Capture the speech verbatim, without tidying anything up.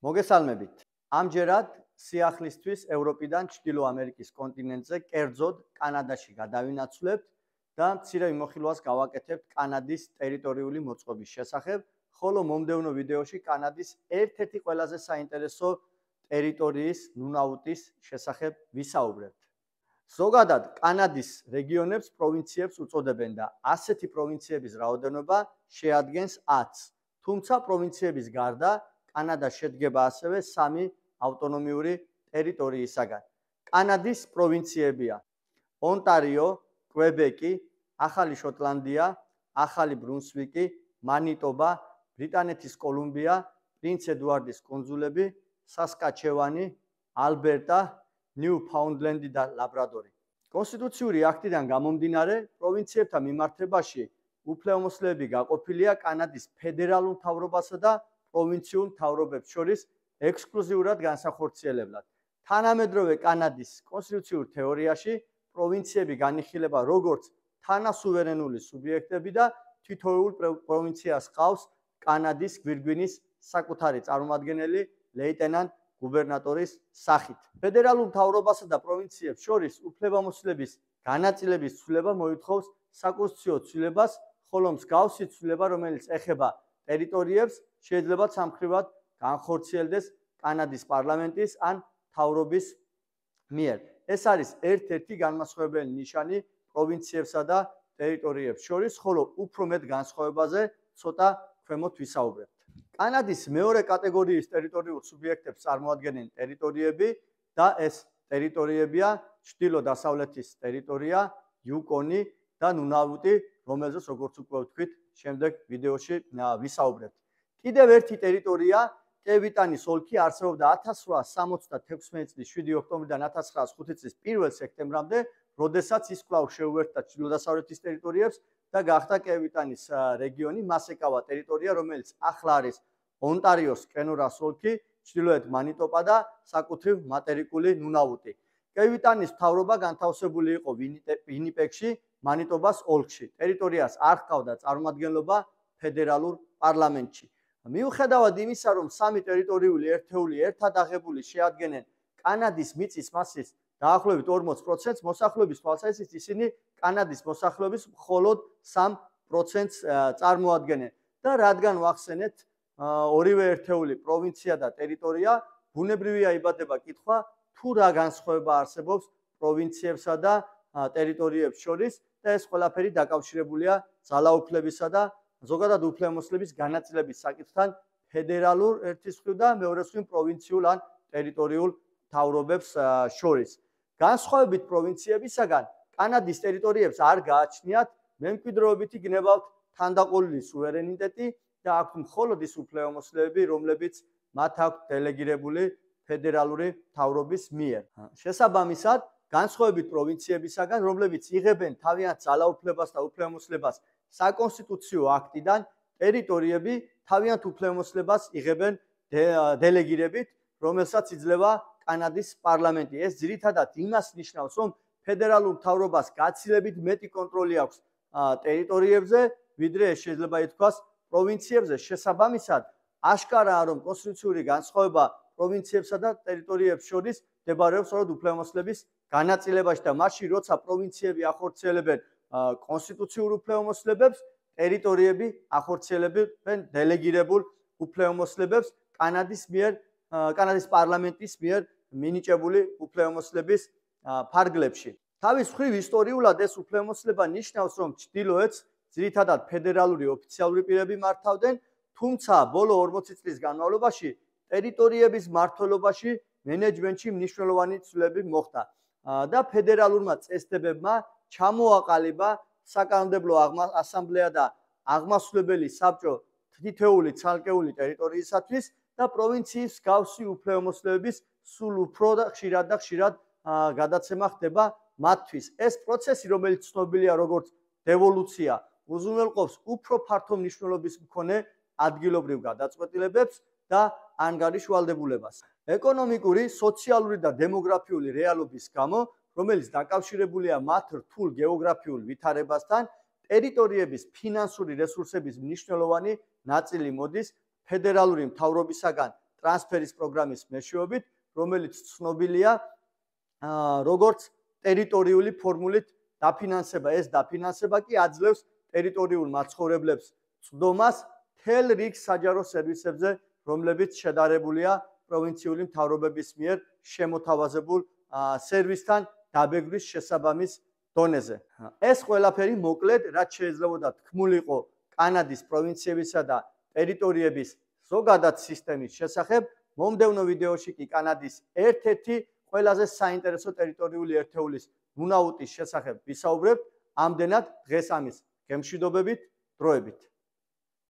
მოგესალმებით. ამჯერად სიახლისთვის ევროპიდან ჩრდილო ამერიკის კონტინენტზე, კერძოდ კანადაში გადავინაცვლებთ და მცირე მიმოხილვას გავაკეთებთ კანადის ტერიტორიული მოწყობის შესახებ, ხოლო მომდევნო ვიდეოში კანადის ერთ-ერთი ყველაზე საინტერესო ტერიტორიის ნუნაუტის შესახებ ვისაუბრებთ. ზოგადად კანადის რეგიონებს პროვინციებს უწოდებენ და ასეთი პროვინციების რაოდენობა შეადგენს ათს. თუმცა პროვინციების გარდა კანადა შედგება ასევე სამი ავტონომიური ტერიტორიისაგან. კანადის პროვინციებია: ონტარიო, კვებეკი, ახალი შოტლანდია, ახალი ბრუნსვიკი, მანიტობა, ბრიტანეთის კოლუმბია, პრინც ედუარდის კუნძულები, სასკაჩევანი, ალბერტა, ნიუფაუნდლენდი და ლაბრადორი. კონსტიტუციური აქტიდან გამომდინარე, პროვინციებთან მიმართებაში უფლებამოსილები გაყოფილია კანადის ფედერალურ მთავრობასა და პროვინციულ მთავრობებს შორის ექსკლუზიურად განსახორციელებლად. თანამედროვე კანადის კონსტიტუციურ თეორიაში პროვინციები განიხილება როგორც თანასუვერენული სუბიექტები და თითოეულ პროვინციას ჰყავს კანადის გვირგვინის საკუთარი წარმომადგენელი ლეიტენანტ გუბერნატორის სახით. ფედერალურ მთავრობასა და პროვინციებს შორის უფლებამოსილების განაწილების ცვლილება მოითხოვს საკონსტიტუციო ცვლილებას, ხოლო მსგავსი ცვლილება, რომელიც ეხება ტერიტორიებს, შეიძლება სამხრივად განხორციელდეს კანადის პარლამენტის ან მთავრობის მიერ. ეს არის ერთ-ერთი განმასხვავებელი ნიშანი პროვინციებსა და ტერიტორიებს შორის, ხოლო უფრო მეტ განსხვავებაზე ცოტა ქვემოთ ვისაუბრებთ. კანადის მეორე კატეგორიის ტერიტორიულ სუბიექტებს წარმოადგენენ ტერიტორიები და ეს ტერიტორიებია ჩრდილო-დასავლეთის ტერიტორია, იუკონი და ნუნავუტი, რომელზეც როგორც უკვე ვთქვით, შემდეგ ვიდეოში ვისაუბრებთ. კიდევ ერთი ტერიტორია, კევიტანის ოლქი არსებობდა ათას რვაას სამოცდათექვსმეტი წლის შვიდი ოქტომბრიდან ათას ცხრაას ხუთი წლის პირველ სექტემბრამდე, როდესაც ის კვლავ შეუერთდა ჩრდილო-დასავლეთის ტერიტორიებს და გახდა კევიტანის რეგიონი. მას ეკავა ტერიტორია, რომელიც ახლა არის ონტარიოს კენორას ოლქი, ჩრდილოეთ მანიტობა და საკუთრივ მატერიკული ნუნავუტი. კევიტანის მთავრობა განთავსებული იყო ვინიპეგში, მანიტობას ოლქში. ტერიტორიას არ ჰყავდა წარმომადგენლობა ფედერალურ პარლამენტში. მიუხედავად იმისა, რომ სამი ტერიტორიული ერთეული ერთად აღებული შეადგენენ კანადის მიწის მასის დაახლოებით ორმოც პროცენტს, მოსახლეობის თვალსაზრისით ისინი კანადის მოსახლეობის მხოლოდ სამ პროცენტს წარმოადგენენ და რადგან ვახსენეთ ორივე ერთეული პროვინცია და ტერიტორია, ბუნებრივია იბადება კითხვა, თუ რა განსხვავება არსებობს პროვინციებსა და ტერიტორიებს შორის და ეს ყველაფერი დაკავშირებულია ძალაუფლებისა და ზოგადად უფლებამოსილების განაწილების საკითხთან ფედერალურ ერთის მხრივ და მეორე მხრივ პროვინციულ ან ტერიტორიულ მთავრობებს შორის. განსხვავებით პროვინციებისაგან, კანადის ტერიტორიებს არ გააჩნიათ მემკვიდრეობითი გნებავთ თანდაყოლილი სუვერენიტეტი და აქვთ მხოლოდ ის უფლებამოსილები, რომლებიც მათ აქვთ დელეგირებული ფედერალური მთავრობის მიერ. შესაბამისად, განსხვავებით პროვინციებისაგან, რომლებიც იღებენ თავიანთ ძალაუფლებას და უფლებამოსილებას საკონსტიტუციო აქტიდან, ტერიტორიები თავიანთ უფლებამოსილებას იღებენ დელეგირებით, რომელსაც იძლევა კანადის პარლამენტი. ეს ძირითადად იმას ნიშნავს, რომ ფედერალურ მთავრობას გაცილებით მეტი კონტროლი აქვს ტერიტორიებზე, ვიდრე ეს შეიძლება ითქვას პროვინციებზე. შესაბამისად, აშკარაა, რომ კონსტიტუციური განსხვავება პროვინციებსა და ტერიტორიებს შორის მდებარეობს სწორედ უფლებამოსილების განაწილებაში და მაშინ, როცა პროვინციები ახორციელებენ კონსტიტუციურ უფლებამოსილებებს, ტერიტორიები ახორციელებენ დელეგირებულ უფლებამოსილებებს კანადის მიერ, კანადის პარლამენტის მიერ მინიჭებული უფლებამოსილების ფარგლებში. თავის მხრივ ისტორიულად ეს უფლებამოსილება ნიშნავს, რომ ჩრდილოეთს ძირითადად ფედერალური ოფიციალური პირები მართავდნენ, თუმცა ბოლო ორმოცი წლის განმავლობაში ტერიტორიების მმართველობაში მენეჯმენტში მნიშვნელოვანი ცვლილები მოხდა და ფედერალურმა წესდებებმა ჩამოაყალიბა საკანონმდებლო ასამბლეა და აღმასრულებელი საბჭო თითოეული ცალკეული ტერიტორიისათვის და პროვინციის მსგავსი უფლებამოსილების სულ უფრო და ხშირად და ხშირად გადაცემა ხდება მათთვის. ეს პროცესი, რომელიც ცნობილია როგორც დევოლუცია, უზრუნველყოფს უფრო ფართო მნიშვნელობის მქონე ადგილობრივ გადაწყვეტილებებს და ანგარიშვალდებულებას. ეკონომიკური, სოციალური და დემოგრაფიული რეალობის გამო, რომელიც დაკავშირებულია მათ რთულ გეოგრაფიულ ვითარებასთან, ტერიტორიების ფინანსური რესურსების მნიშვნელოვანი ნაწილი მოდის ფედერალური მთავრობისაგან ტრანსფერის პროგრამის მეშვეობით, რომელიც ცნობილია როგორც ტერიტორიული ფორმულით დაფინანსება. ეს დაფინანსება კი აძლევს ტერიტორიულ მაცხოვრებლებს წვდომას მთელ რიგ საჯარო სერვისებზე, რომლებიც შედარებულია პროვინციული მთავრობების მიერ შემოთავაზებულ სერვისთან დაბეგვრის შესაბამის დონეზე. ეს ყველაფერი მოკლედ, რაც შეიძლება თქმულიყო კანადის პროვინციებისა და ტერიტორიების ზოგადად სისტემის შესახებ. მომდევნო ვიდეოში კი კანადის ერთ-ერთი ყველაზე საინტერესო ტერიტორიული ერთეულის ნუნაუტის შესახებ ვისაუბრებთ. ამდენად დღეს ამის გემშვიდობებით, დროებით.